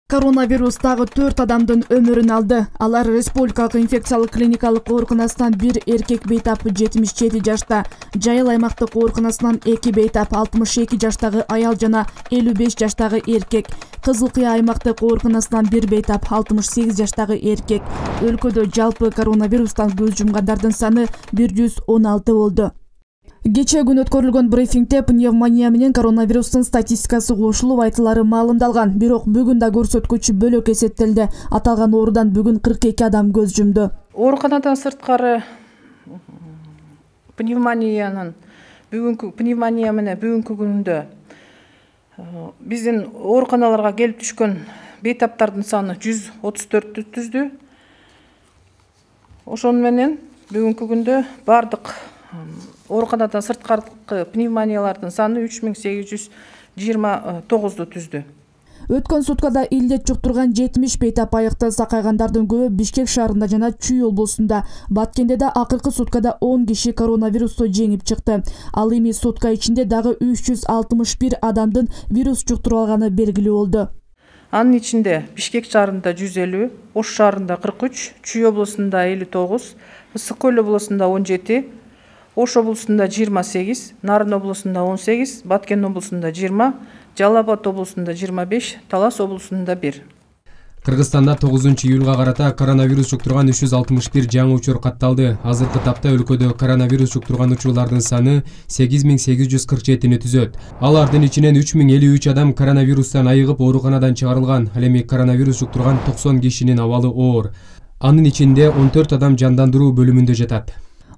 Коронавирус дагы 4 адамдын өмүрүн алды. Алар республикалык инфекциялык клиникалык ооруканасынан бир эркек бейтап 77 жашта, Жайыл аймактык ооруканасынан 2 бейтап 62 жаштагы аял жана 55 жаштагы эркек, Кызыл Кыя аймактык ооруканасынан бир бейтап 68 жаштагы эркек. Өлкөдө жалпы коронавирустан көз жумгандардын саны 116 болду. Кечээ күнү өткөрүлгөн брифингде пневмония менен коронавирустун статистикасы кошулуп айтылары маалымдалган. Бирок бүгүн да көрсөткүч бөлөк эсептелди. Аталган оорудан бүгүн 42 адам көз жумду. Ооруканадан сырткары пневмония менен бүгүнкү күндө биздин ооруканаларга келип түшкөн бейтаптардын саны 134 түздү. Ошону менен бүгүнкү күндө бардык ооруканадан сырткары пневмониялардын саны 3829 түздү. Өткөн суткада илдет жуктурган 70 бейтап айыкты. Сакайгандардын көбү Бишкек шаарында жана Чүй облусунда. Баткендеде акыркы суткада 10 киши коронавирусту жеңип чыкты. Ал эми сутка ичинде дагы 361 адамдын вирус жуктуруп алганы белгилүү болду. Анын ичинде Бишкек шаарында 150, Ош шаарында 43, Чүй облусунда 59, Ысык Көл облусунда 17, Ош облусунда 28, Нарын облусунда 18, Баткен облусунда 20, Жалал Абад облусунда 25, Талас облусунда 1. Кыргызстанда 9-июлга карата коронавирус жуктурган 361 жаңы учур катталды. Азыркы тапта өлкөдө коронавирус жуктурган учурлардын саны 8847-ни түзөт. Алардын ичинен 3053 адам коронавирустан айыгып ооруканадан чыгарылган. Ал эми коронавирус жуктурган 90 кишинин абалы оор. Анын ичинде 14 адам жандандыруу бөлүмүндө жатат.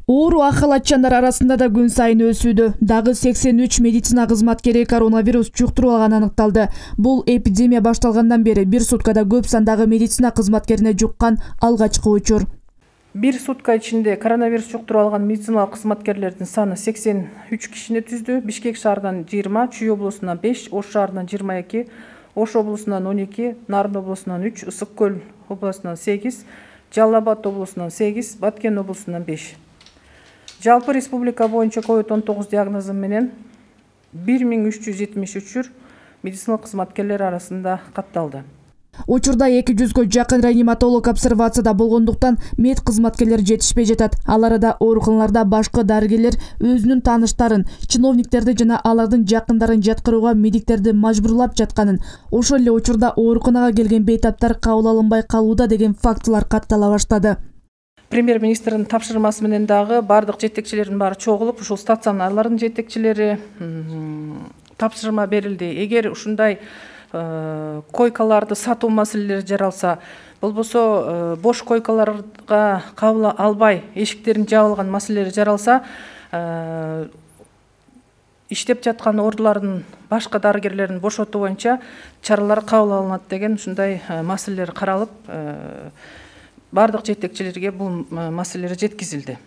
Оору ахалатчандар арасында да күн сайын өсүүдө. Дагы 83 медицина кызматкери коронавирус жуктуруп алганы аныкталды. Бул эпидемия башталгандан бери бир суткада көп сандагы медицина кызматкерине жуккан алгачкы учур. Бир сутка ичинде коронавирус жуктуруп алган медициналык кызматкерлердин саны 83 кишини түздү. Бишкек шаарынан 20, Чүй облусунан 5, Ош шаарынан 22, Ош облусунан 12, Нарын облусунан 3, Ысык Көл облусунан 8, Жалал Абад облусунан 8, Баткен облусунан 5. Жалпы республика боюнча COVID-19 диагнозу менен 1373 медициналык кызматкерлер арасында катталды. Учурда 200гө жакын реаниматолог обсервацияда болгондуктан мед кызматкерлер жетишпей жатат. Ал арада ооруканаларда башкы дарыгерлер өзүнүн тааныштарын, чиновниктерди жана алардын жакындарын жаткырууга медиктерди мажбурлап жатканын, ошол эле учурда ооруканага келген бейтаптар кабыл алынбай калууда деген фактылар каттала баштады. Премьер-министрдин тапшырмасы менен дагы бардык жетекчилердин баары чогулуп, ушул стационарлардын жетекчилери тапшырма берилди. Эгер ушундай койкаларды сатуу маселелери жаралса, болбосо бош койкаларга кабыл албай эшиктерин жабылган маселелери жаралса, иштеп жаткан ордулардын башка дарыгерлерин бошотуу боюнча чаралар кабыл алынат деген ушундай маселелер каралып, бардык жетекчилерге бул маселелер жеткизилди.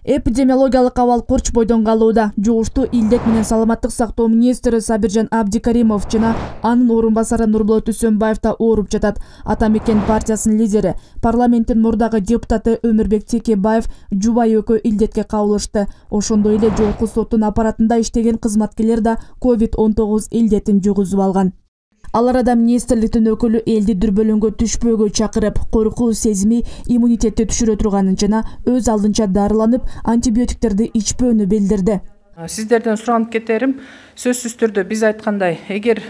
Эпидемиологиялык абал курч бойдон калууда. Жугуштуу илдет менен саламаттык сактоо министри Сабиржан Абдикаримов жана анын орун басары Нурболот Үсөнбаев да ооруп жатат. Ата мекен партиясынын лидери, парламенттин мурдагы депутаты Өмүрбек Текебаев жубайы экөө илдетке кабылышты. Ошондой эле жогорку соттун аппаратында иштеген кызматкерлер да COVID-19 илдетин жугузуп алган. Ал арада министрликтин өкүлү элди дүрбөлөңгө түшпөөгө чакырып, коркуу сезими иммунитетти түшүрө турганын жана өз алдынча дарыланып, антибиотиктерди ичпөөнү билдирди. Сиздерден суранып кетерим, сөзсүз түрдө биз айткандай, эгер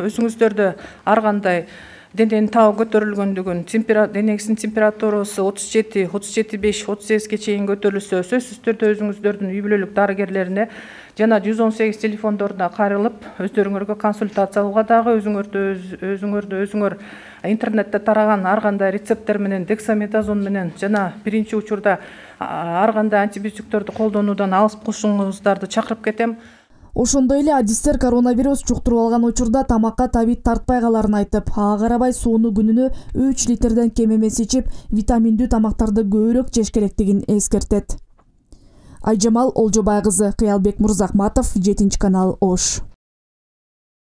өзүңүздөрдө ар кандай дененин табы көтөрүлгөндүгүн, денеңиздин температурасы 37, 37,5, 38ге чейин көтөрүлсө, сөзсүз түрдө өзүңүздөрдүн үй бүлөлүк дарыгерлерине жана 118 телефондоруна кайрылып, өздөрүңөргө консультация алууга дагы өзүңөр интернетте тараган ар кандай рецепттер менен, дексаметазон менен жана биринчи учурда ар кандай антибиотиктерди колдонуудан алыс кылышыңыздарды чакырып кетем. Ошондой эле адистер коронавирус жуктуруп алган учурда тамакка табит тартпай калаарын айтып, ага карабай сууну күнүнө 3 литрден кем эмес ичип, витаминдүү тамактарды көбүрөөк жеш керектигин эскертет. Айжамал Олжобай кызы, Кыялбек Мурзахматов, 7 канал, Ош.